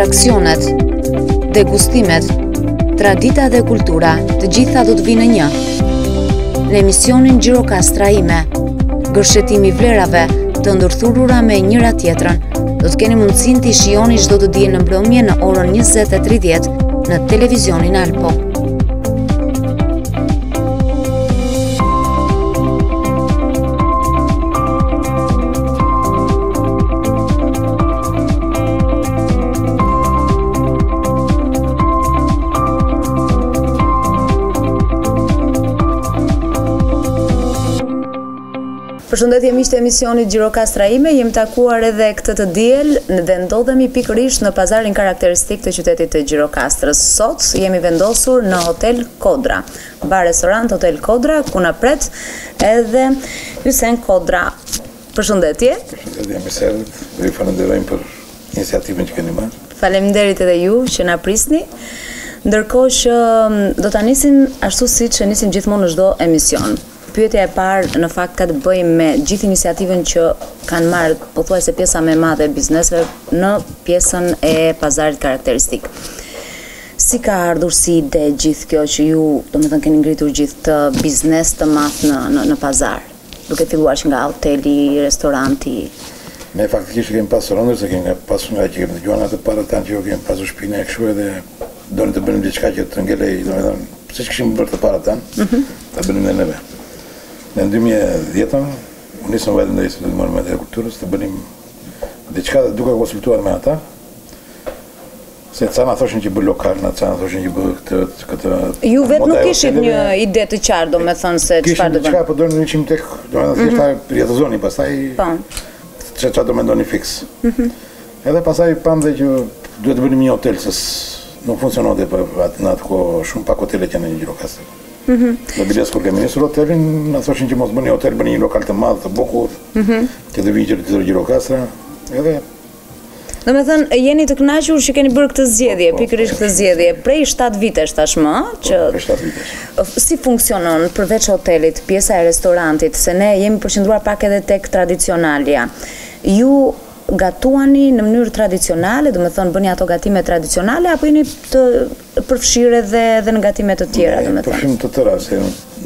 Atraksionet, degustimet, tradita dhe kultura, të gjitha do të vijnë në një. Në emisionin Gjirokastra ime, gërshetimi i vlerave të ndërthurura me njëra tjetrën, do të keni mundësinë t'i shijoni çdo të diel në mbrëmje në orën 20:30 në televizionin Alpo. Përshëndetje miq të emisionit Gjirokastra ime, jemi takuar edhe këtë të diel dhe ndodhemi pikërisht në pazarin karakteristik të qytetit të Gjirokastrës. Sot jemi vendosur në Hotel Kodra, bar restorant Hotel Kodra, ku na pret edhe Hysen Kodra. Përshëndetje. Përshëndetje, mirë se erdhët. Ju falenderojmë për iniciativën që keni marrë. Faleminderit edhe ju që na prisni. Ndërkohë që mm, do ta nisim ashtu siç e nisim gjithmonë në çdo emision. Pyetja e parë në fakt ka të bëjë me gjithë iniciativën që kanë marrë pothuajse pjesa më e madhe e bizneseve në pjesën e pazarit karakteristik. Si ka ardhur si ide gjithë kjo që ju, domethënë keni ngritur gjithë këtë biznes të madh në në në pazar? Duke filluar që nga hoteli, restoranti. Ne faktikisht e kemi pasur ëndërr se kemi pasur nga që kemi dëgjuar nga të parët tanë që jo kemi pasur shpinë e kështu edhe donim të bënim diçka që të ngelej, domethënë, siç kishim bërë të parët tanë, mm -hmm. ta bënim dhe neve. Në 2010-ën, u nisëm vajtëm në Institutin e Monumenteve të Kulturës të bënim diçka dhe duke konsultuar me ata, Se ca na thoshin që bë lokal, na ca na thoshin që bë këtë këtë. Ju vetë nuk kishit një ide të qartë, domethënë se çfarë do bëni. Kishim diçka, po donim ishim tek, domethënë thjesht ta mhm. jetëzonim, pastaj Po. Çfarë çfarë do mendoni fiks. Mhm. Edhe pastaj pamë dhe që duhet të bënim një hotel se nuk funksiononte për atë në atë kohë shumë pak hotele që në Gjirokastër. Mhm. Dhe biles kur kemi nisur hotelin, na thoshin që mos bëni hotel, bëni një lokal të madh, të bukur, që të vijë gjithë Gjirokastra. Edhe Domethënë, jeni të kënaqur që keni bërë këtë zgjedhje, po, po, pikërisht këtë zgjedhje, prej 7 vitesh tashmë, po, që prej 7 vitesh. Si funksionon përveç hotelit, pjesa e restorantit, se ne jemi përqendruar pak edhe tek tradicionalja. Ju gatuani në mënyrë tradicionale, domethënë bëni ato gatime tradicionale apo jeni të përfshirë edhe edhe në gatime të tjera, domethënë? Ne përfshijmë të tëra, se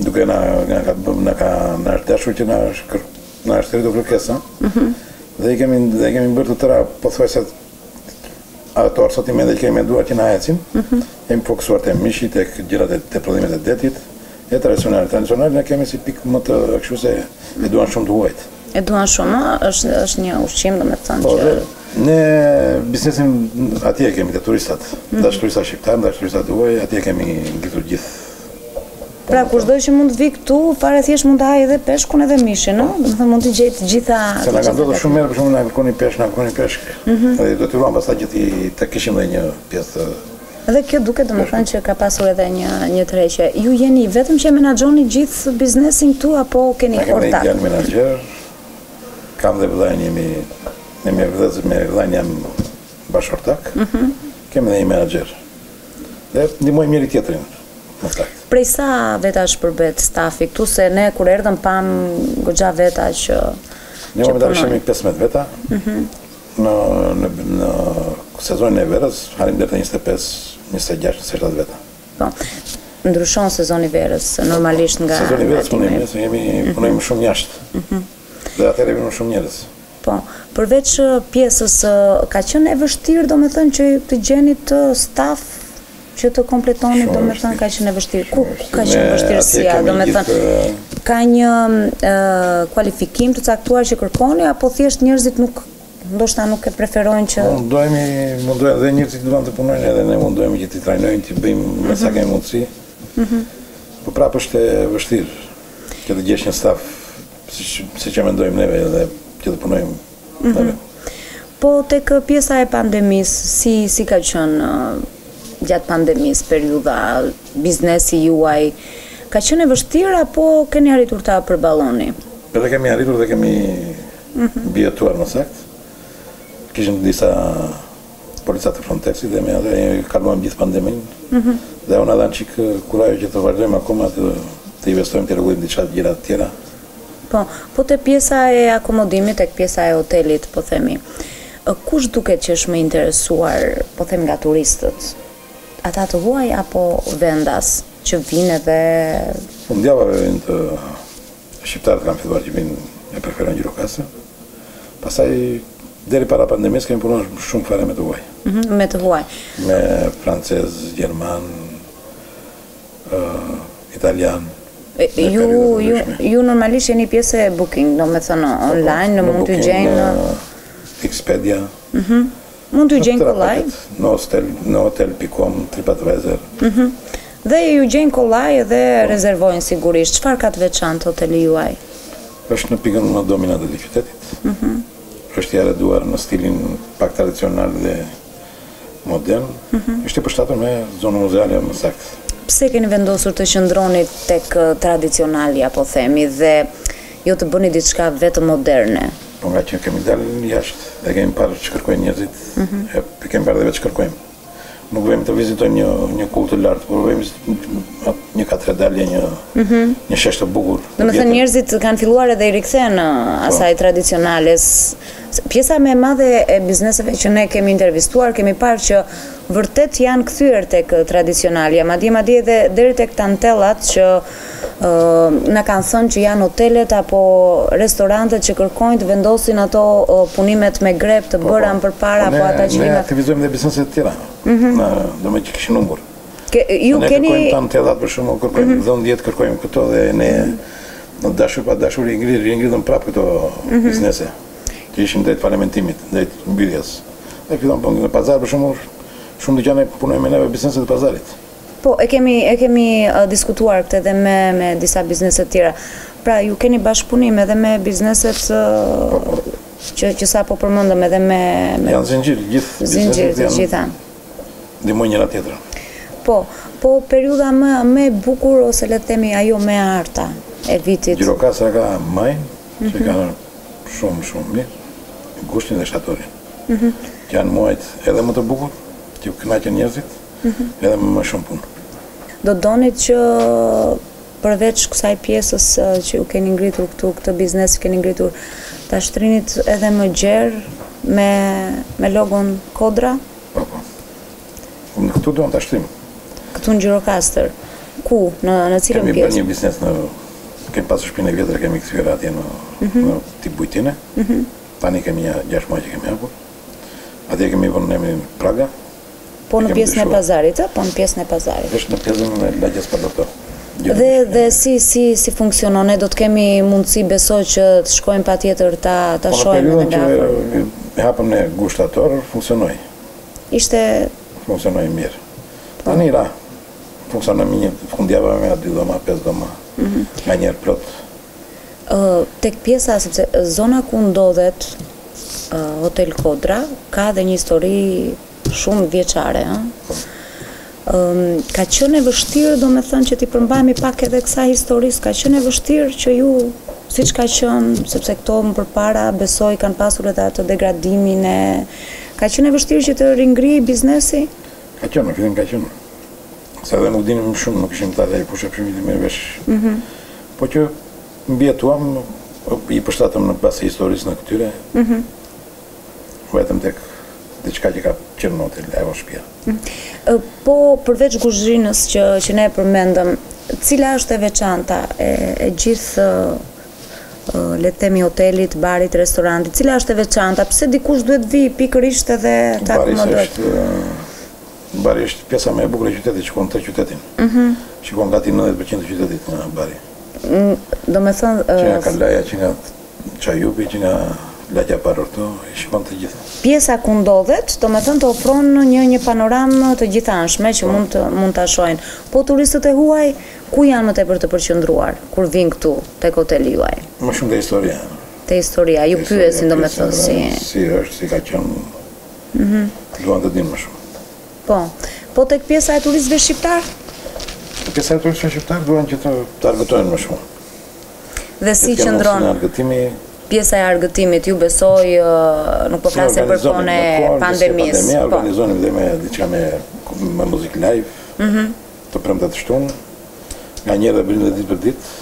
duke na na ka na ka na është dashur që na është Na është rritur kërkesa. Mhm. Dhe i kemi dhe i kemi bërë të tëra pothuajse ato asortimente që kemi menduar që na ecin. Mm Jemi fokusuar te mishi, tek gjërat e te prodhimet e detit, e tradicionale. Tradicionale ne kemi si pikë më të kështu se e duan shumë të huajt. E duan shumë, është është një ushqim, domethënë po, që ne biznesin atje e kemi te turistat, mm -hmm. ndash turistat shqiptarë, ndash turistat e huaj, atje kemi ngritur gjithë Pra kushdo që mund të vijë këtu, fare thjesht mund të hajë edhe peshkun edhe mishin, ëh? Domethënë mund të gjejë të gjitha. Se na ka ndodhur shumë herë, për shembull na kërkonin peshk, na kërkonin peshk. Mhm. Dhe u detyruam pastaj që ti të kishim edhe një pjesë të Dhe kjo duket domethënë që ka pasur edhe një një tërheqje. Ju jeni vetëm që e menaxhoni gjithë biznesin këtu apo keni ortak? Ne kemi një djalë menaxher. Kam dhe vëllain jemi ne me vëllezër me vëllain jam bashkëortak. Mhm. Kemi dhe një menaxher. Dhe ndihmojmë njëri tjetrin. Në fakt. Prej sa vetash përbëhet stafi këtu se ne kur erdhëm pamë goxha veta që Ne momentalisht jemi 15 veta. Mhm. Në në në sezonin e verës arrijmë deri te 25, 26, 27 veta. Po. Ndryshon sezoni i verës normalisht nga Sezoni i verës punojmë, se jemi mhm. punojmë shumë jashtë. Mhm. Dhe atëherë vijnë shumë njerëz. Po. Përveç pjesës ka qenë e vështirë domethënë që të gjenit staf që të kompletonit domethënë ka qenë e vështirë. Ku ka qenë vështirësia, domethënë ka një kualifikim të caktuar që kërkoni apo thjesht njerëzit nuk ndoshta nuk e preferojnë që Mundohemi, mundohemi dhe njerëzit duan të punojnë edhe ne mundohemi që t'i trajnojmë, t'i bëjmë me sa mhm. kemi mundësi. Mhm. Po prapë është e vështirë që të gjesh një staf siç siç e mendojmë neve edhe që të punojmë mm -hmm. Po tek pjesa e pandemisë, si si ka qenë gjatë pandemisë periudha, biznesi juaj, ka qenë e vështirë apo keni arritur ta përballoni? Edhe kemi arritur dhe kemi mm -hmm. mbijetuar më saktë. Kishim disa polica të Frontexit dhe me atë e kaluam gjithë pandeminë. Mm -hmm. Dhe na dhanë çik kurajo që të vazhdojmë akoma të, të investojmë të rregullojmë diçka të gjëra të tjera. Po, po te pjesa e akomodimit, tek pjesa e hotelit, po themi. Kush duket që është më i interesuar, po them nga turistët? Ata të huaj apo vendas që vijnë edhe Fundjavave vijnë të shqiptarët kanë filluar që vijnë e preferojnë Gjirokastrën. Pastaj deri para pandemisë kemi punuar shumë fare me të huaj. Mhm, me të huaj. Me francez, gjerman, uh, italian. Ju, ju, ju normalisht jeni pjesë e Booking, domethënë po, po, online, në mund të gjejnë në Expedia. Mhm. Mund t'ju gjejnë kollaj. Në hostel, në hotel.com, TripAdvisor. Mhm. Dhe ju gjejnë kollaj dhe po. rezervojnë sigurisht. Çfarë ka të veçantë hoteli juaj? Është në pikën më dominante të qytetit. Mhm. Është i arreduar në stilin pak tradicional dhe modern. Mhm. Është i përshtatur me zonën muzeale më saktë. Pse keni vendosur të qëndroni tek tradicionalja, po themi, dhe jo të bëni diçka vetëm moderne? Po nga që kemi dalë jashtë dhe kemi parë ç'kërkojnë njerëzit, mm -hmm. e kemi parë dhe vetë ç'kërkojmë. Nuk vemi të vizitojmë një një kullë të lartë, por vemi një katedral, një mm -hmm. një shesh të bukur. Domethënë njerëzit kanë filluar edhe i rikthehen po. asaj tradicionales. Pjesa më e madhe e bizneseve që ne kemi intervistuar, kemi parë që vërtet janë kthyer tek tradicionalja, madje madje edhe deri tek tantellat që na kanë thënë që janë hotelet apo restorantet që kërkojnë të vendosin ato punimet me grep të po, bëra po. më përpara po, apo ata që ne aktivizojmë dhe biznese të tjera. Mm -hmm. Na, domethënë që kishin humbur. Ke, ju ne keni kërkojmë tantellat për shembull, kërkojmë mm -hmm. dhëndjet, kërkojmë këto dhe ne në dashur pa dashur i ngritëm, i ngritëm prapë këto mm -hmm. biznese që ishin drejt falimentimit, drejt mbylljes. Dhe fillon po në pazar për shembull, shumë dyqane punojnë me neve bizneset e pazarit. Po, e kemi e kemi diskutuar këtë edhe me me disa biznese të tjera. Pra, ju keni bashkëpunim edhe me bizneset po, po. që që sapo përmendëm edhe me me Janë zinxhir, gjithë bizneset janë. Gjitha. Ndihmojnë njëra tjetrën. Po, po periudha më më e bukur ose le të themi ajo më e arta e vitit. Gjirokastra ka majin, mm -hmm. që mhm. ka shumë shumë mirë, gushtin dhe shtatorin. Mm -hmm. Që janë muajt edhe më të bukur, që kënaqen njerëzit. Edhe me më shumë punë. Do donit që përveç kësaj pjesës që ju keni ngritur këtu, këtë biznes që keni ngritur, ta shtrinit edhe më gjerë me me logon Kodra? Po, po. Në këtu duam ta shtrim. Këtu në Gjirokastër. Ku? Në në cilën pjesë? Kemi bërë një biznes në kemi pasur shtëpinë e vjetër, kemi kthyer atje në mm -hmm. në tip bujtine. Mm -hmm. Tani kemi një 6 muaj që kemi hapur. Atje kemi vënë emrin Praga. Po në pjesën e pazarit, ë? Po në pjesën e pazarit. Është në pjesën e lagjes Palorto. Dhe dhe si si si funksionon? Ne do të kemi mundësi besoj që të shkojmë patjetër ta ta po, shohim edhe nga afër. Që e hapëm në gusht shtator, funksionoi. Ishte funksionoi mirë. Po. Tani ra. Funksionoi me një fundjavë me dy dhoma, pesë dhoma. Mm -hmm. Nganjëherë plot. Ë tek pjesa sepse zona ku ndodhet Hotel Kodra ka dhe një histori shumë vjeçare, ëh. Po. Ka qenë e vështirë, domethënë që t'i përmbahemi pak edhe kësaj historisë, ka qenë e vështirë që ju siç ka qenë, sepse këto më përpara besoj kanë pasur edhe atë degradimin e ka qenë e vështirë që të ringrihej biznesi? Ka qenë, në fillim ka qenë. Se edhe nuk dinim shumë, nuk ishim të atij fushe shumë i mirë vesh. Mm -hmm. Po që Mbijetuam, i përshtatëm në bazë të historisë në këtyre. Mm -hmm. Vetëm tek diçka që ka qenë në hotel, ajo shtëpia. Mm -hmm. Po përveç kuzhinës që që ne e përmendëm, cila është e veçanta e, e gjithë le të themi hotelit, barit, restorantit, cila është e veçanta? Pse dikush duhet vijë pikërisht edhe të akomodohet? Bari është pjesa më e bukur e qytetit, shikon të qytetin. Mm -hmm. Shikon gati 90% të qytetit nga bari. Domethënë... Që nga Kalaja, që nga Çajupi, që nga lagja Palorto, i shikon të gjitha. Pjesa ku ndodhet, domethënë të ofron një një panoramë të gjithanshme që po. mund të mund ta shohin. Po turistët e huaj ku janë më tepër të përqendruar kur vijnë këtu tek hoteli juaj? Më shumë te historia. Te historia, ju pyesin domethënë si si është, si ka qenë. Mhm. Duan të dinë më shumë. Po. Po tek pjesa e turistëve shqiptarë? Te pjesa e turistëve shqiptarë duan që të të argëtohen më shumë. Dhe si qëndron argëtimi? Pjesa e argëtimit, ju besoj, nuk po flasim për kohën e pandemisë. Pandemia, po. organizonim dhe me diçka me me muzikë live. Mhm. Mm të premte të shtunë, nganjëherë dhe bënim dhe ditë për ditë.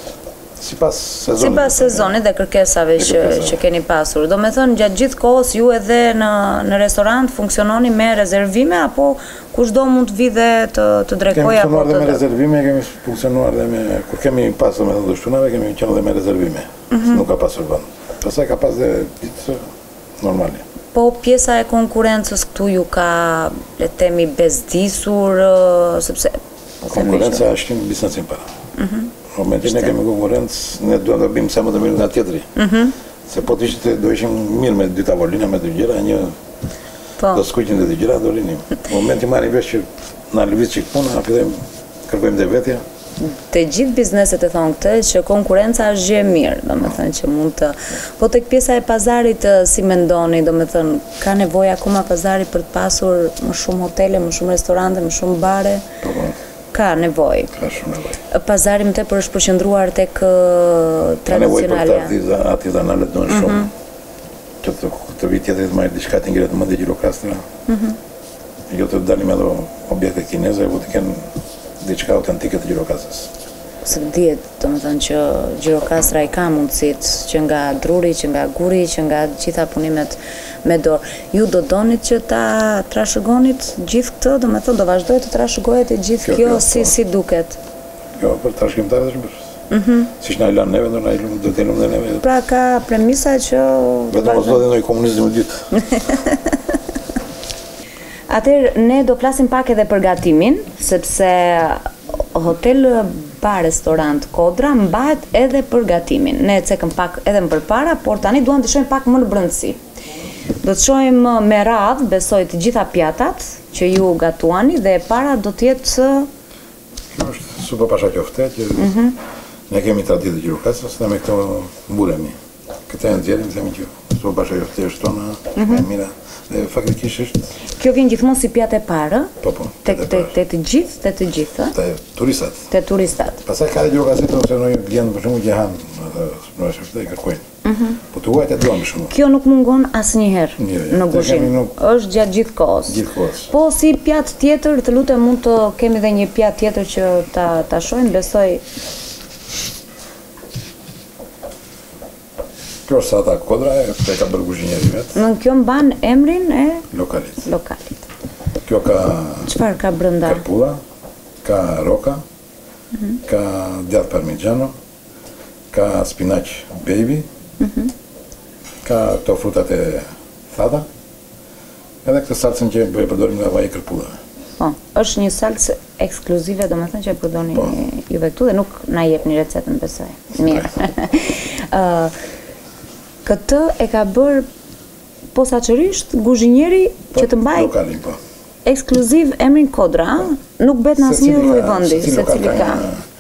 Sipas sezonit. Sipas sezonit dhe kërkesave që që keni pasur. Domethënë gjatë gjithë kohës ju edhe në në restorant funksiononi me rezervime apo kushdo mund të vijë dhe të të drekojë apo të. Kemi funksionuar dhe me rezervime, kemi funksionuar dhe me kur kemi pasur domethënë të shtunave kemi qenë dhe me rezervime. Mm -hmm. Nuk ka pasur vend. Pastaj ka pas dhe ditë normale. Po pjesa e konkurrencës këtu ju ka le të themi bezdisur sepse po themi Konkurrenca është një biznesin para. Mhm. Në momentin ne kemi konkurrencë, ne duam të bëjmë sa më të mirë nga tjetri. Mhm. Se po të ishte do ishim mirë me dy tavolina me dy gjëra, një po. do skuqim dhe dy gjëra do rinim. Në momentin marrim vesh që na lëviz çik puna, na fillojmë kërkojmë dhe vetja. Të gjithë bizneset e thonë këtë që konkurrenca është gjë e mirë, domethënë që mund të Po tek pjesa e pazarit si mendoni, domethënë ka nevojë akoma pazari për të pasur më shumë hotele, më shumë restorante, më shumë bare? Po, po. Ka nevojë. Ka shumë nevojë. Pazari më tepër është përqendruar tek tradicionalja. Ka nevojë për të artizanalet duhen shumë. Mhm. Që të, të vijë tjetri të marrë diçka të ngrihet mendje Gjirokastra. Mhm. Jo të dalim me ato objekte kineze, ku të kenë diçka autentike të Gjirokastrës. Se dihet, domethënë që Gjirokastra i ka mundësitë që nga druri, që nga guri, që nga të gjitha punimet me dorë. Ju do donit që ta trashëgonit gjithë këtë, domethënë do vazhdojë të trashëgohet e gjithë kjo, kjo si po. si duket. Jo, për trashëgimtarët është bërë. Mhm. Siç na e lanë neve, do na e lënë, do të lëmë dhe neve. Pra ka premisa që vetëm mos ndodhi ndonjë komunizëm i dytë. Atëherë ne do flasim pak edhe për gatimin, sepse Hotel Bar Restorant Kodra mbahet edhe për gatimin. Ne e cekëm pak edhe më përpara, por tani duam të shohim pak më në brendësi. Do të shohim me radhë, besoj të gjitha pjatat që ju gatuani dhe e para do të jetë Kjo është supa pasha qofte që mm -hmm. ne kemi traditë të Gjirokastrës dhe me këto mburemi. Këtë e nxjerrim, themi që supa pasha qofte është tona, mm -hmm. e mira. Dhe faktikisht është Kjo vjen gjithmonë si pjatë e parë, Po, po. Tek tek te të gjithë, te të gjithë, Te turistat. Te turistat. Pastaj ka edhe gjirokastrit ose ndonjë klient për shembull që han, atë supën pasha qofte e kërkojnë. Mhm. Po të huajt e duan më shumë. Kjo nuk mungon asnjëherë jo, jo, në kuzhinë. Nuk... Është gjatë gjithë kohës. Gjithë kohës. Po si pjatë tjetër, të lutem mund të kemi dhe një pjatë tjetër që ta ta shohim, besoj. Kjo është sallata kodra, e e ka bërë kuzhinieri vetë. Në kjo mban emrin e lokalit. Lokalit. Kjo ka Çfarë ka brenda? Kërpudha, ka roka, mm -hmm. ka djathë parmigiano, Ka spinaq baby, ka këto frutat e thata, edhe këtë salcën që e përdorim nga vaji i kërpudhave. Po, është një salcë ekskluzive, domethënë që e përdorni po. juve këtu dhe nuk na jepni recetën, besoj. Mirë. Ë këtë e ka bërë posaçërisht kuzhinieri po, që të mbajë lokalin, po. Ekskluziv emrin Kodra, ë? Nuk bëhet në asnjë lloj vendi, secili ka.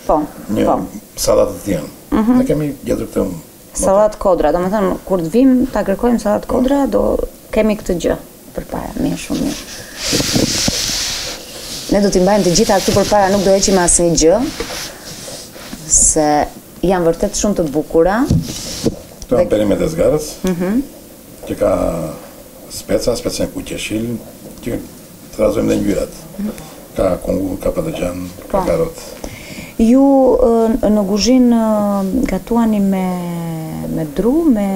Po, një po. Sallatë të tijën. Mhm. Ne kemi gjetur këtë Sallatë Kodra, domethënë kur të vijmë ta kërkojmë sallatë po. Kodra, do kemi këtë gjë përpara. Mirë, shumë mirë. Ne do t'i mbajmë të gjitha këtu përpara, nuk do heqim asnjë gjë, se janë vërtet shumë të bukura. Këto janë perimet e zgarës. Mhm. Që ka speca, speca e kuq jeshil, që trazojmë dhe ngjyrat. Ka kungull, ka patëllxhan, ka po. karot. Ju në kuzhinë gatuani me me dru, me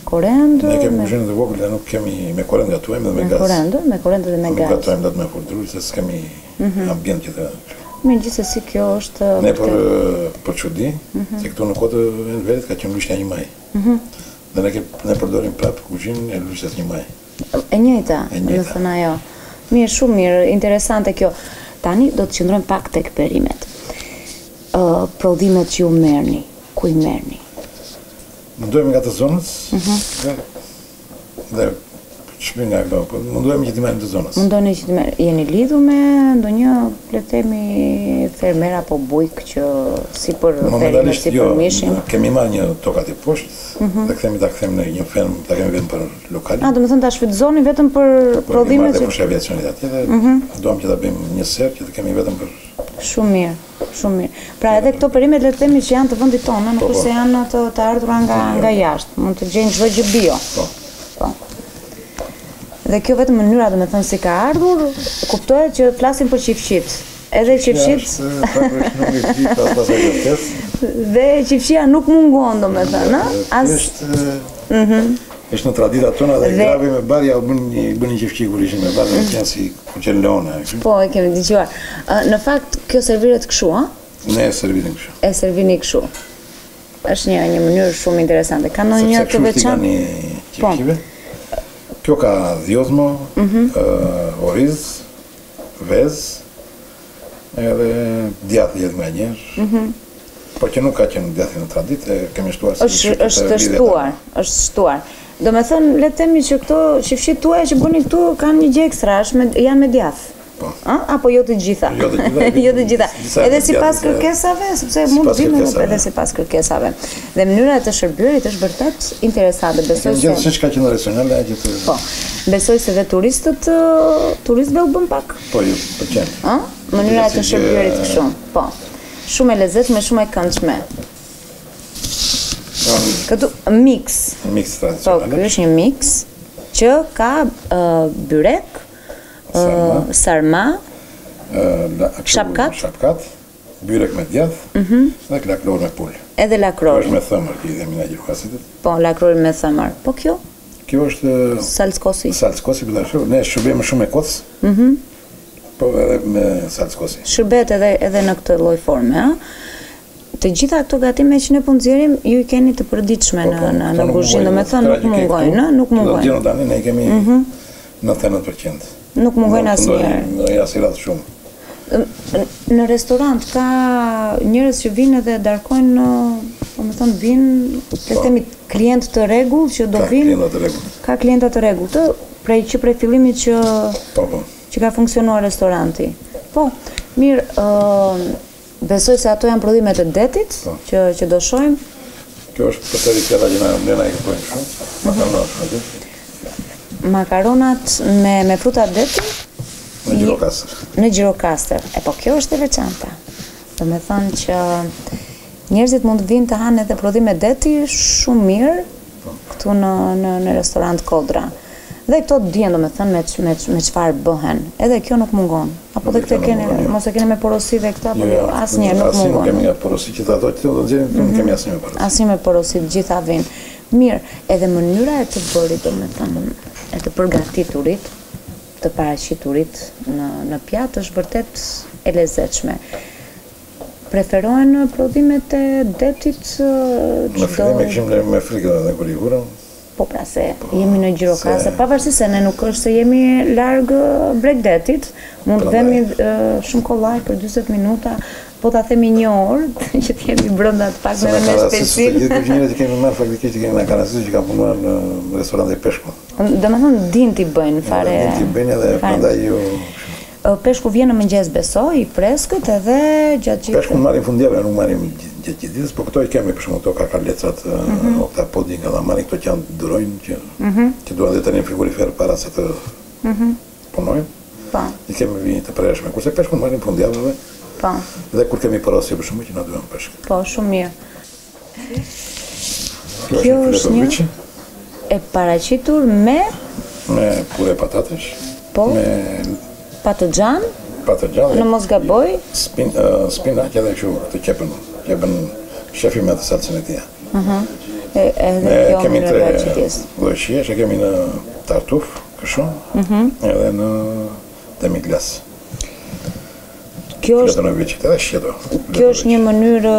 korend? Ne kemi kuzhinë të vogël dhe nuk kemi me korend gatuajmë dhe me gaz. Me korend, me korend dhe me gaz. Nuk gatuajmë dot me furrë druri se s'kemi mhm. ambient që të Mirë, gjithsesi kjo është Ne për për çudi, mhm. se këtu në kohë të Enverit ka qenë Lushnja një maj. Mhm. Dhe ne, ne përdorim prapë kuzhinën e Lushnjës një maj. E njëjta, domethënë ajo. Mirë, shumë mirë, interesante kjo. Tani do të qëndrojmë pak tek perimet. Ë prodhimet që ju merrni, ku i merrni? Mundohemi nga të zonës. Mhm. Dhe dhe ç'më nga këto, po mundohemi që t'i marrim të zonës. Mundoheni që t'i merrni. Jeni lidhur me ndonjë, le të themi, fermer apo bujk që si për perimet, si për jo, mishin? Kemi marrë një tokë aty poshtë mm -hmm. dhe kthehemi ta kthejmë në një fermë, ta kemi vetëm për lokalin. A, domethënë ta shfrytëzoni vetëm për po, prodhimet që... Po, fushë aviacionit atje dhe mm -hmm. duam që ta bëjmë një serë që të kemi vetëm për... Shumë mirë. Shumë mirë. Pra edhe këto perimet le të themi që janë të vendit tonë, nuk po, është se po. janë të, të ardhura nga nga jashtë, mund të gjejnë çdo gjë bio. Po. Po. Dhe kjo vetëm mënyra domethënë si ka ardhur, kuptohet që flasim për qifqit. Edhe qifqit. Dhe qifqia nuk mungon, domethënë, ë? As Mhm. Është në traditat tona dhe grave me bar ja u bën një bën një qifqi kur ishin me bar, mm. qenë si kur leona, kështu. Po, e kemi dëgjuar. Në fakt kjo serviret kështu, ë? Ne e servirim kështu. E servini kështu. Është një një mënyrë shumë interesante. Ka ndonjë të veçantë? Po. Kjo ka dhjozmo, mm -hmm. uh, oriz, vezë, edhe djathë jetë nga njerë. Mm -hmm. Po që nuk ka qenë djathi në traditë, e kemi shtuar si është, është shtuar, është shtuar. Domethënë, le të themi që këto qifqitë tuaja që bëni këtu kanë një gjë ekstra, është me, janë me djathë. Po. Ë? Apo jo të gjitha? Jo të gjitha. jo të gjitha. Edhe sipas kërkesave, sepse mund të vinë edhe sipas kërkesave. Dhe mënyra e të shërbyerit është vërtet interesante. Besoj se gjithë siç ka qenë tradicionale ajo që Po. Besoj se dhe turistët turistëve u bën pak. Po ju pëlqen. Ë? Mënyra e të shërbyerit kështu. Po. Shumë e lezetshme, shumë e këndshme. Këtu mix. Mix tradicional. Po, ky është një mix që ka uh, byrek, sarma, sarma shapkat, shapkat, byrek me djath mm -hmm. dhe lakror me pulë. Edhe lakror. Është me thëmër, që i themi ne gjirokastritët. Po, lakror me thëmër. Po kjo? Kjo është salcë kosi. Salcë kosi, po tash ne shërbejmë shumë me koc. Mhm. Mm po edhe me salcë kosi. Shërbehet edhe edhe në këtë lloj forme, ëh. Të gjitha këto gatime që ne po nxjerrim, ju i keni të përditshme po, po, në në në kuzhinë, domethënë nuk mungojnë, ëh, nuk mungojnë. Do tani ne i kemi mm -hmm. 99%. Nuk mungojnë asnjëherë. Në ja si radhë shumë. Në restorant ka njerëz që vinë edhe darkojnë, domethënë vinë, le të po. themi klientë të rregullt që do vinë. Ka klientë të rregullt. Ka klientë të rregullt, ë, prej që prej fillimit që po, po. që ka funksionuar restoranti. Po, mirë, ë Besoj se ato janë prodhimet e detit po. që që do shohim. Kjo është përsëri pjata që na ne na e kërkojnë shumë. Mhm. Makaronat aty. Makaronat me me fruta deti në Gjirokastër. Në Gjirokastër. E po kjo është e veçanta. Domethënë që njerëzit mund të vinë të hanë edhe prodhime deti shumë mirë po. këtu në në në restorant Kodra. Dhe këto dihen domethënë me me me çfarë bëhen. Edhe kjo nuk mungon. Apo dhe këtë keni, jo. mos e keni me porosi dhe këtë apo jo, jo, asnjëherë nuk mungon. Asnjë nuk kemi nga porosi që ato që do nxjerrim, nuk kemi asnjë me porosi. Asnjë me porosi, të gjitha vijnë. Mirë, edhe mënyra e të bërit domethënë e të përgatiturit, të paraqiturit në në pjatë është vërtet e lezetshme. Preferohen prodhimet e detit çdo Në fillim e kishim me frikë edhe kur i vurëm, Po pra se jemi në Gjirokastër, pavarësisht se ne nuk është se jemi larg bregdetit, mund të vemi shumë kollaj për 40 minuta, po ta themi një orë, që të jemi brenda të paktën edhe me shpejtësinë. Të gjithë kuzhinierët që kemi marrë faktikisht i kemi nga Karasi që kanë punuar në restorante peshku. Domethënë dinë t'i bëjnë fare. Dinë t'i bëjnë edhe prandaj ju Peshku vjen në mëngjes besoj, i freskët edhe gjatë gjithë. Peshkun marrim fundjavë, nuk marrim gjatë gjithë ditës, po këto i kemi për shembull këto karkalecat, mm -hmm. oktapodin, kallamarin, këto që janë durojnë që mm -hmm. që duan dhe të rrinë frigorifer para se të mm -hmm. punojnë. Po. I kemi vijë të prershme, kurse peshkun marrim fundjavëve. Po. Dhe kur kemi porosi për shembull që na duhen peshk. Po, shumë mirë. Kjo është një e paraqitur me me pure patatesh. Po. Me patëllxhan. Patëllxhan. Në mos gaboj. Spin uh, spinaq edhe kështu të qepën, qepën shefi me atë salcën e tij. Ëh. Uh -huh. E edhe kjo kemi tre lloj shijesh, e kemi në tartuf, kështu. Ëh. Uh -huh. Edhe në demiglas. Kjo është Kjo është një mënyrë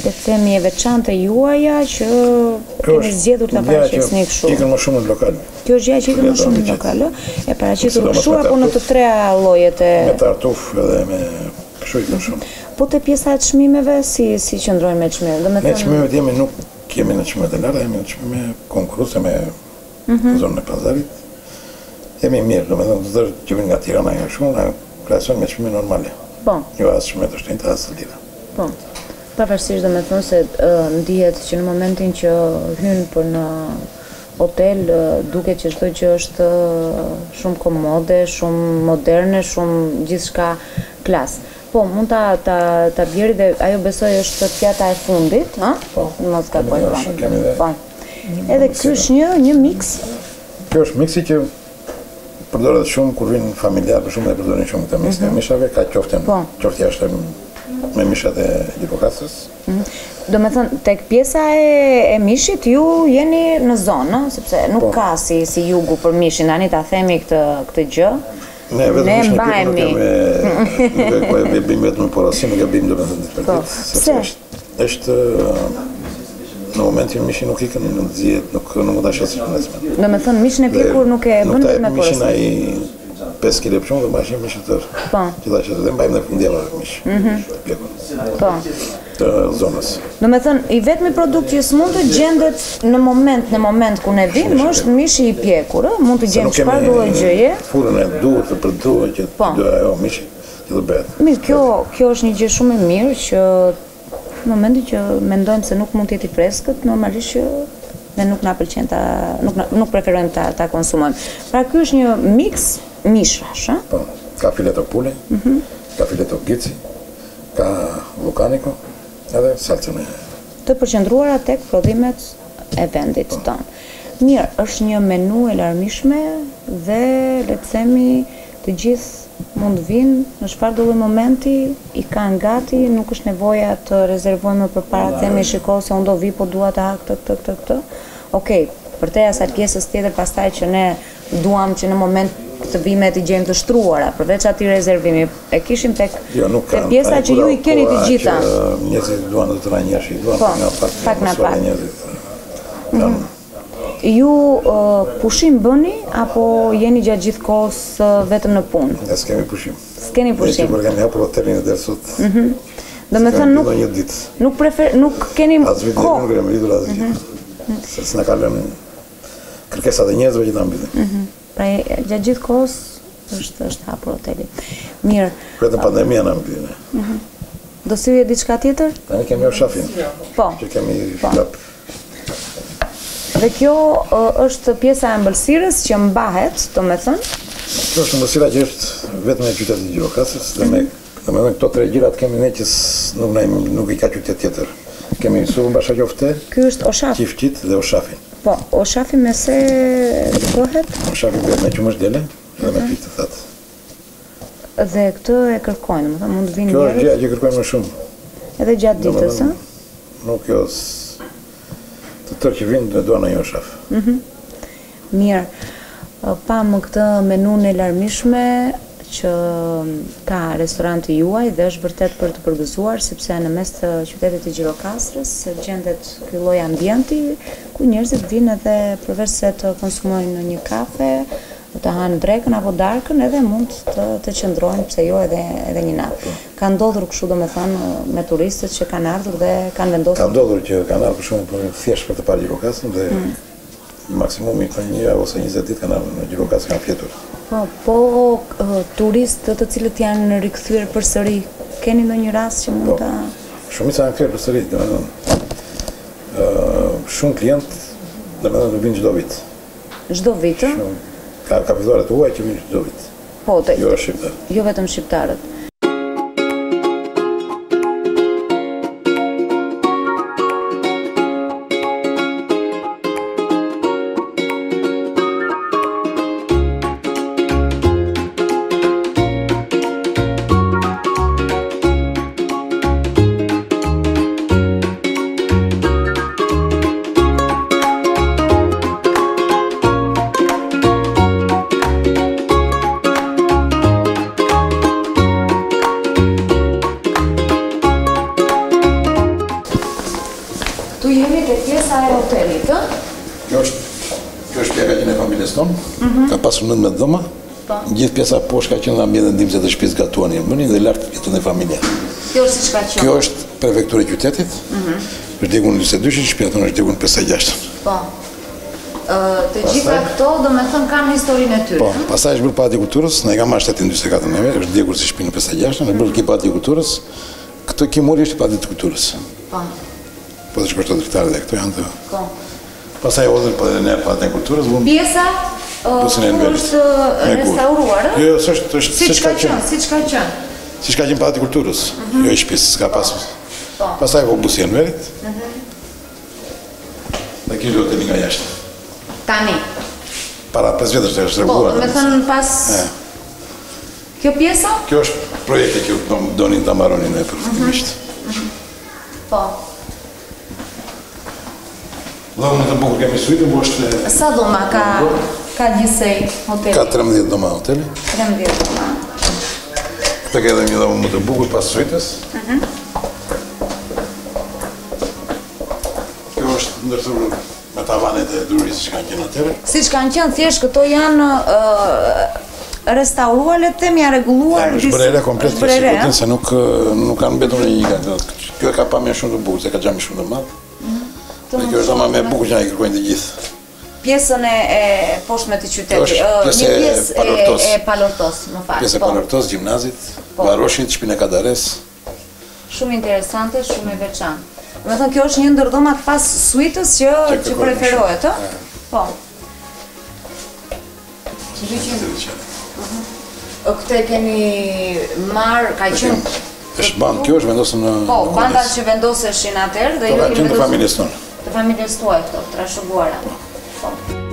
le të themi e veçantë e juaja që keni zgjedhur ta paraqisni kështu. Ikën më shumë në lokal. Kjo është gjëja që ikën më shumë në lokal, ë? E paraqitur kështu apo në të treja llojet e Me tartuf edhe me kështu ikën shumë. Po te pjesa e çmimeve si si qëndrojnë me çmimet? Domethënë Ne çmimet jemi nuk jemi në çmime të larta, jemi në çmime konkurruese me mhm. zonën e pazarit. Jemi mirë, domethënë të tërë që vijnë nga Tirana nga kështu, na krahasojnë me çmime normale. Po. Jo as çmime të shtrenjta, as të lira. Po. Pavarësisht domethënë se ndihet që në momentin që hyn për në hotel duket që çdo gjë është shumë komode, shumë moderne, shumë gjithçka klas. Po, mund ta ta ta bjeri dhe ajo besoj është pjata e fundit, ë? Po. Në mos gaboj, po. Po. Edhe ky është një një miks. Kjo është miksi që. Përdoret shumë kur vijnë familjarë, për shembull e përdorin shumë këtë miksin e mhm. mishave, ka qoften, po. qofte jashtë me mishat e Gjirokastrës. Mhm. Domethënë, tek pjesa e, e mishit, ju jeni në zonë, sepse nuk po. ka si, si jugu për mishin, tani ta themi këtë, këtë gjë. Ne vetëm ne mishin e nuk kemi, nuk e po e bëjmë vetëm me porosi, nuk e bëjmë domethënë ditë për po. ditë, sepse është, është në momentin mishi nuk ikën, nuk zihet, nuk nuk mund ta shesësh të nesërmen. Domethënë mishin e pjekur nuk e bën me porosi. Mishin ai 5 kg për shembull, do mbash një mish të tërë. Po. Që ta shesësh, dhe mbajmë në fundjavë mish. Mhm. Të pjekur. Po. Të zonës. Domethënë i vetmi produkt që s'mund të gjendet në moment në moment ku ne vim është mishi i pjekur, ë, mund të gjejmë çfarë do lloj gjëje. Furrën e duhur të përdorur që po. do ajo mishi që të bëhet. Mirë, kjo kjo është një gjë shumë e mirë që Në momentin që mendojmë se nuk mund të jetë i freskët, normalisht që ne nuk na pëlqen ta nuk na, nuk preferojmë ta ta konsumojmë. Pra ky është një miks mishrash, ë? Po, ka fileto pule, mm -hmm. ka fileto gici, ka lukaniko, edhe salcën e të përqendruara tek prodhimet e vendit po. tonë. Mirë, është një menu e larmishme dhe le të themi Të gjithë mund të vijnë në çfarëdo lloj momenti, i kanë gati, nuk është nevoja të rezervojmë më përpara, të themi shiko se unë do vij po dua të ha këtë, këtë, këtë, këtë. Okej, përtej asaj pjesës tjetër pastaj që ne duam që në moment të vijmë e t'i gjejmë të shtruara, përveç atij rezervimi, e kishim tek jo, nuk te pjesa që ju i keni të gjitha. Njerëzit duan të të njerëz, duan po, nga pak, pak nga pak. Njerëzit. Mm -hmm. Ju pushim bëni apo jeni gjatë gjithë kohës vetëm në punë? Ne s'kemi pushim. S'keni pushim. Ne që kur kemi hapur hotelin e deri sot. Mhm. Domethënë nuk një ditë. Nuk prefer nuk keni kohë. As vitin nuk kemi mbyllur asgjë. Mm -hmm. Se s'na ka lënë kërkesat e njerëzve që ta mbyllim. Mhm. Mm pra gjatë gjithë kohës është është hapur hoteli. Mirë. Vetëm pandemia na mbylli. Mhm. Mm Do sillje diçka tjetër? Tani kemi oshafin. Po. Që kemi po. Dhe kjo është pjesa e ëmbëlsirës që mbahet, domethënë? Kjo është ëmbëlsira që është vetëm e qytetit të Gjirokastrës, dhe me, mhm. domethënë këto tre gjërat kemi ne që nuk, na, nuk i ka qytet tjetër. Kemi supën bashaqofte, Ky është oshaf. Qifqit dhe oshafin. Po, oshafi me se bëhet? Oshafi bëhet me qumësht dele dhe me mhm. fiq të thatë. Dhe këtë e kërkojnë, domethënë mund të vinë njerëz. Kjo është gjëja që kërkojnë më shumë. Edhe gjatë ditës, ë? Nuk jo të tërë që vinë dhe duan një oshaf. Mhm. Mirë. Pamë këtë menunë e larmishme që ka restoranti juaj dhe është vërtet për të përgëzuar sepse në mes të qytetit të Gjirokastrës gjendet ky lloj ambienti ku njerëzit vijnë edhe përveç se të konsumojnë një kafe, të hanë drekën apo darkën edhe mund të të qëndrojnë pse jo edhe edhe një natë. Po. Ka ndodhur kështu domethënë me turistët që kanë ardhur dhe kanë vendosur. Ka ndodhur që kanë ardhur për shembull për thjesht për të parë Gjirokastrën dhe mm. maksimumi për një javë ose 20 ditë kanë ardhur në Gjirokastër kanë fjetur. Po, po turistë të cilët janë rikthyer përsëri, keni ndonjë rast që mund po, ta Shumica janë kthyer përsëri, domethënë ë shumë klientë domethënë vijnë çdo vit. Çdo vit, ë? Ka ka vizitorë të huaj që vijnë çdo vit. Po, te, jo shqiptarë. Jo vetëm shqiptarët. Tu jemi te pjesa e hotelit, ë? Kjo është kjo është pjesa që e familjes tonë. Mm -hmm. Ka pasur 19 dhoma. Po. Gjithë pjesa poshtë ka qenë ambiente ndihmëse të shtëpisë gatuanin, bënin dhe lart jetonte familja. Kjo është siç ka qenë. Kjo është prefektura e qytetit. Mm -hmm. Është djegur në 42-shin, shtëpia tonë është djegur në 56-ën. Po. Të gjitha këto, domethënë, kanë historinë e tyre. Po, pastaj është bërë Pallati i Kulturës, na e ka marrë shteti në 44 neve, është djegur si shtëpi në 56-ën, është bërë ky Pallati i Kulturës. Këtë ky muri është i Pallatit të Kulturës. Po. Po të shkosh te dritaret dhe këto janë të... Po. Pastaj hodhën po edhe ne Pallatin e Kulturës, vumë... Pjesa busin e Enverit. është restauruar, ë? Jo, jo, s'është, është siç ka qenë. Siç ka qenë. Siç ka qenë Pallati i Kulturës, mhm. jo i shtëpisë, s'ka po. pasur. Po. Pastaj u busi i Enverit. Mhm. Dhe ky është hoteli nga jashtë. Tani. Para 5 vjetësh është rregulluar. Po, domethënë pas Kjo pjesa? Kjo është projekti që donin ta mbaronin ne përfundimisht. Mm -hmm. Po. Dhomën më të bukur kemi suitën, po është... Sa dhoma ka, ka gjithsej hoteli? Ka 13 dhoma hoteli. 13 dhoma. Këtë ka edhe një dhomë më të bukur pas suitës. Mm -hmm. Kjo është ndërthurur me tavanet e drurit siç kanë qenë atëherë. Siç kanë qenë, thjesht këto janë restauruar, le të themi, janë rregulluar. Është bërë e re komplet, kjo si se nuk nuk kanë mbetur në një gjë. Kjo e ka pamje shumë të bukur, se ka xhamin shumë të madh. Mhm. Dhe kjo është dhoma më e bukur që na i kërkojnë të gjithë. Pjesën e e poshtme të qytetit, një pjesë e e Palortos, më fal. Pjesë e po. Palortos, gjimnazit, po. Varoshit, shpinë e Kadares. Shumë interesante, shumë e veçantë. Domethënë kjo është një ndër dhomat pas suitës që që preferohet, ë? Po. Mhm. Këtë e keni marrë, ka qenë është bandë, kjo është vendosur në Po, bandat që vendoseshin atëherë dhe ju keni vendosur. Të familjes tonë. Të familjes tuaj këto, trashëguara. Po. Po.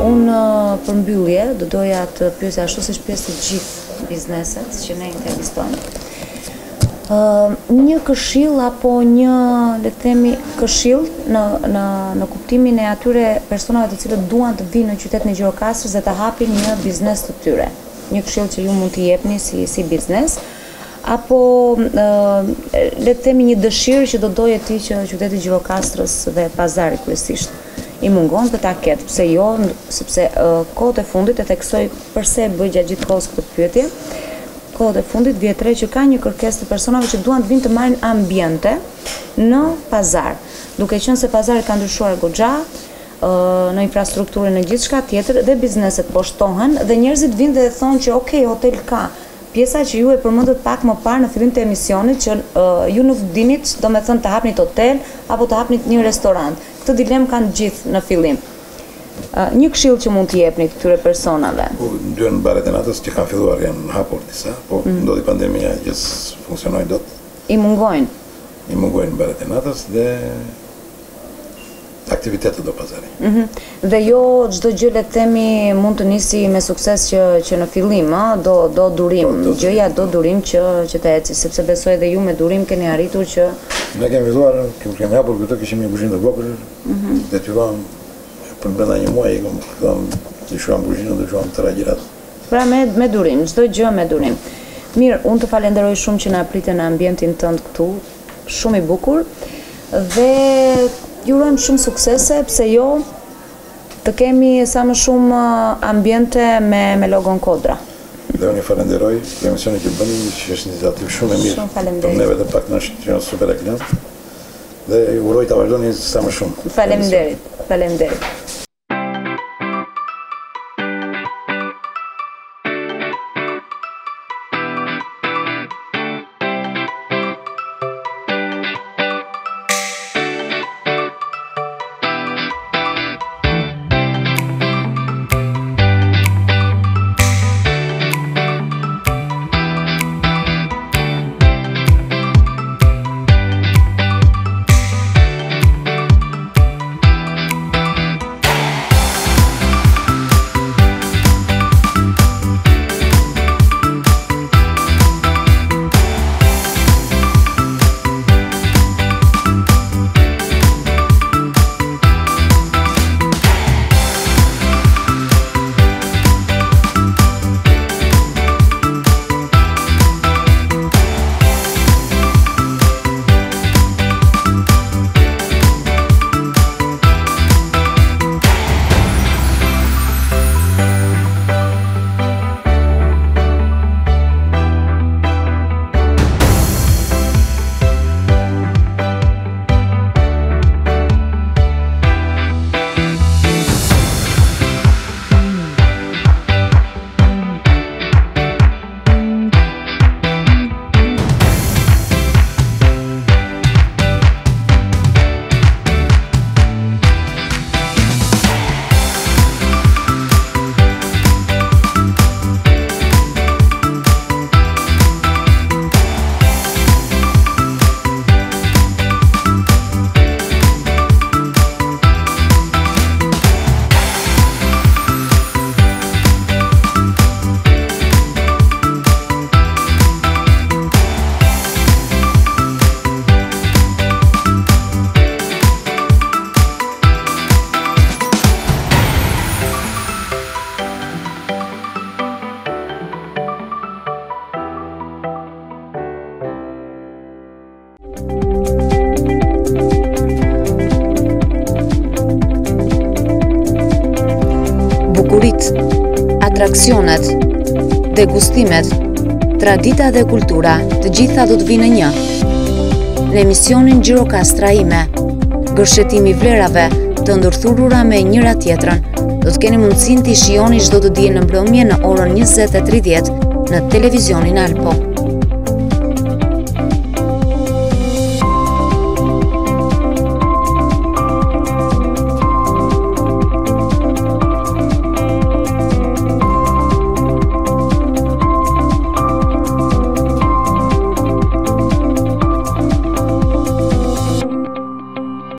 Unë për mbyllje do doja të pyesja ashtu siç pyes të gjithë bizneset që ne intervistojmë. Ë një këshillë apo një le të themi këshillë në në në kuptimin e atyre personave të cilët duan të vijnë në qytetin e Gjirokastrës dhe të hapin një biznes të tyre. Një këshillë që ju mund t'i jepni si si biznes apo le të themi një dëshirë që do doje ti që qyteti i Gjirokastrës dhe pazari kryesisht i mungon dhe ta ketë, pse jo, sepse kohët e fundit e theksoj përse e bëj gjatë gjithë kohës këtë pyetje, kohët e fundit vihet re që ka një kërkesë të personave që duan të vijnë të marrin ambiente në pazar. Duke qenë se pazari ka ndryshuar goxha, në infrastrukturën në gjithçka tjetër dhe bizneset po shtohen dhe njerëzit vijnë dhe thonë që ok, hotel ka, Pjesa që ju e përmendët pak më parë në fillim të emisionit që ju nuk dinit, domethënë të hapnit hotel apo të hapnit një restorant. Këtë dilemë kanë të gjithë në fillim. Një këshillë që mund t'i jepnit këtyre personave? Po, duhen baret e natës që kanë filluar, janë hapur disa, po ndodhi pandemia që s'funksionoi dot. I mungojnë. I mungojnë baret e natës dhe aktivitetet do pazari. Mhm. Dhe jo çdo gjë le të themi mund të nisi me sukses që që në fillim, ë, do do durim, po, do gjëja do durim që që të eci, sepse besoj edhe ju me durim keni arritur që Ne kemi filluar, kemi kemi hapur këtu, kishim një kuzhinë të vogël, mm -hmm. detyruam për brenda një muaji, filluam ndryshuam kuzhinën, ndryshuam të tëra gjërat. Pra me me durim, çdo gjë me durim. Mirë, unë të falenderoj shumë që na prite në ambientin tënd këtu, Shumë i bukur dhe ju urojmë shumë suksese, pse jo të kemi sa më shumë ambiente me me logon Kodra. Dhe unë ju falenderoj për emisionin që bëni, që është një iniciativë shumë e mirë. Shumë faleminderit. Për neve të paktën është një super reklamë. Dhe ju uroj ta vazhdoni sa më shumë. Faleminderit. Faleminderit. Atraksionet, degustimet, tradita dhe kultura, të gjitha do të vijnë në një. Në emisionin Gjirokastra ime, gërshetimi i vlerave të ndërthurura me njëra tjetrën, do të keni mundësinë t'i shijoni çdo të diel në mbrëmje në orën 20:30 në televizionin Alpo.